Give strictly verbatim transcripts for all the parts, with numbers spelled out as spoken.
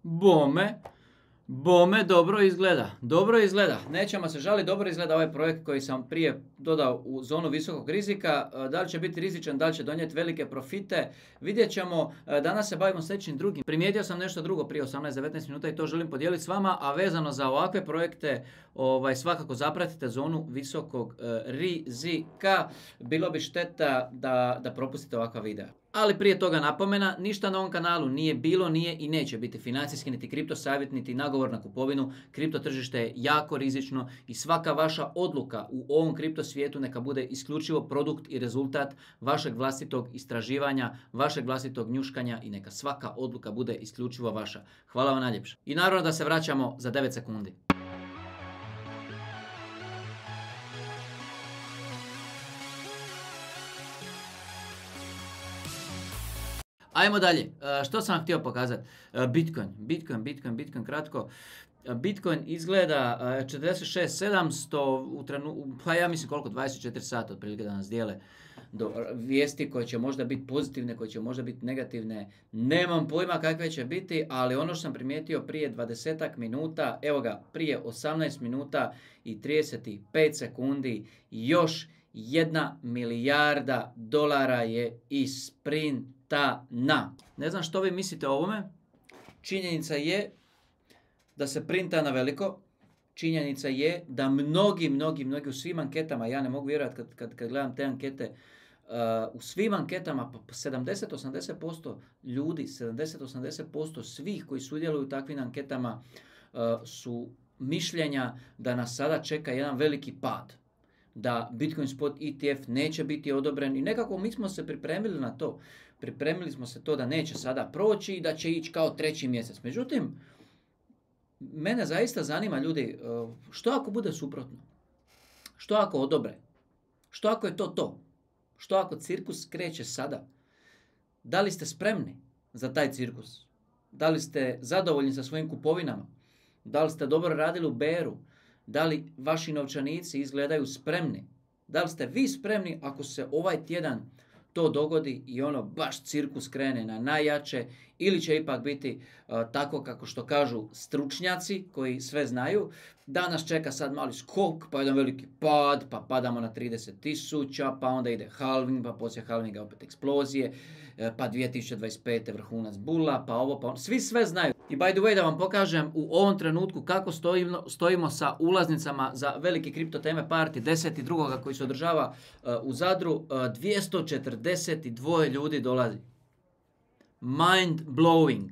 Bome, bome dobro izgleda, dobro izgleda, nećemo se žaliti, dobro izgleda ovaj projekt koji sam prije dodao u zonu visokog rizika. Da li će biti rizičan, da li će donijeti velike profite, vidjet ćemo. Danas se bavimo sljedećim drugim. Primijetio sam nešto drugo prije osamnaest devetnaest minuta i to želim podijeliti s vama, a vezano za ovakve projekte ovaj, svakako zapratite zonu visokog e, rizika. Bilo bi šteta da, da propustite ovakva videa. Ali prije toga napomena, ništa na ovom kanalu nije bilo, nije i neće biti financijski niti kripto savjet niti nagovor na kupovinu. Kripto tržište je jako rizično i svaka vaša odluka u ovom kripto svijetu neka bude isključivo produkt i rezultat vašeg vlastitog istraživanja, vašeg vlastitog njuškanja i neka svaka odluka bude isključivo vaša. Hvala vam najljepše. I naravno da se vraćamo za devet sekundi. Ajmo dalje. Što sam vam htio pokazati? Bitcoin, Bitcoin, Bitcoin, Bitcoin, kratko. Bitcoin izgleda četrdeset šest sedamsto, u trenu, pa ja mislim koliko, dvadeset četiri sata otprilike da nas dijele do vijesti koje će možda biti pozitivne, koje će možda biti negativne. Nemam pojma kakve će biti, ali ono što sam primijetio prije dvadesetak minuta, evo ga, prije osamnaest minuta i trideset pet sekundi, još jedna milijarda dolara je isprintana. Ne znam što vi mislite o ovome. Činjenica je da se printa na veliko. Činjenica je da mnogi, mnogi, mnogi u svim anketama, ja ne mogu vjerovati kad, kad, kad gledam te ankete, uh, u svim anketama sedamdeset do osamdeset posto ljudi, sedamdeset do osamdeset posto svih koji sudjeluju u takvim anketama uh, su mišljenja da nas sada čeka jedan veliki pad. Da Bitcoin Spot E T F neće biti odobren i nekako mi smo se pripremili na to. Pripremili smo se to da neće sada proći i da će ići kao treći mjesec. Međutim, mene zaista zanima, ljudi, što ako bude suprotno? Što ako odobre? Što ako je to to? Što ako cirkus kreće sada? Da li ste spremni za taj cirkus? Da li ste zadovoljni sa svojim kupovinama? Da li ste dobro radili u beru? Da li vaši novčanici izgledaju spremni? Da li ste vi spremni ako se ovaj tjedan to dogodi i ono baš cirkus krene na najjače, ili će ipak biti uh, tako kako što kažu stručnjaci koji sve znaju, da nas čeka sad mali skok, pa jedan veliki pad, pa padamo na trideset tisuća, pa onda ide halving, pa poslije halvinga opet eksplozije, pa dvije tisuće dvadeset pete vrhunac bula, pa ovo, pa ono. Svi sve znaju. I by the way da vam pokažem u ovom trenutku kako stojimo, stojimo sa ulaznicama za veliki kripto teme party deset drugoga koji se održava uh, u Zadru. Uh, dvjesto četrdeset dva ljudi dolazi. Mind blowing.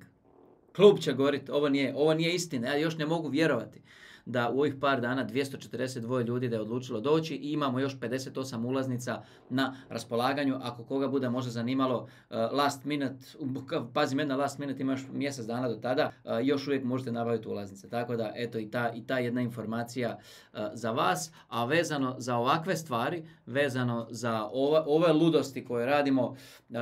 Klub će govoriti, ovo nije, ovo nije istina, ja još ne mogu vjerovati da u ovih par dana dvjesto četrdeset dva ljudi da je odlučilo doći i imamo još pedeset osam ulaznica na raspolaganju. Ako koga bude možda zanimalo uh, last minute, pazim jedna last minute, ima još mjesec dana do tada, uh, još uvijek možete nabaviti ulaznice. Tako da, eto i ta, i ta jedna informacija uh, za vas, a vezano za ovakve stvari, vezano za ove, ove ludosti koje radimo, uh,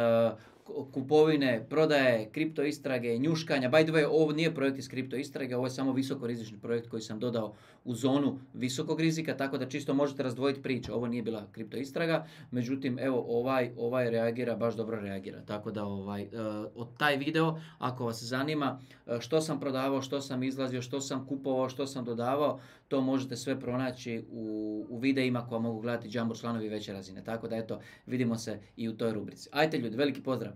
kupovine, prodaje, kripto istrage, njuškanja. By the way, ovo nije projekt iz kripto istrage, ovo je samo visoko rizični projekt koji sam dodao u zonu visokog rizika, tako da čisto možete razdvojiti priče. Ovo nije bila kripto istraga, međutim, evo, ovaj, ovaj reagira, baš dobro reagira. Tako da, ovaj, od taj video, ako vas zanima što sam prodavao, što sam izlazio, što sam kupovao, što sam dodavao, to možete sve pronaći u, u videima koja mogu gledati Jumbo članovi veće razine. Tako da, eto, vidimo se i u toj rubrici. Ajde ljudi, veliki pozdrav!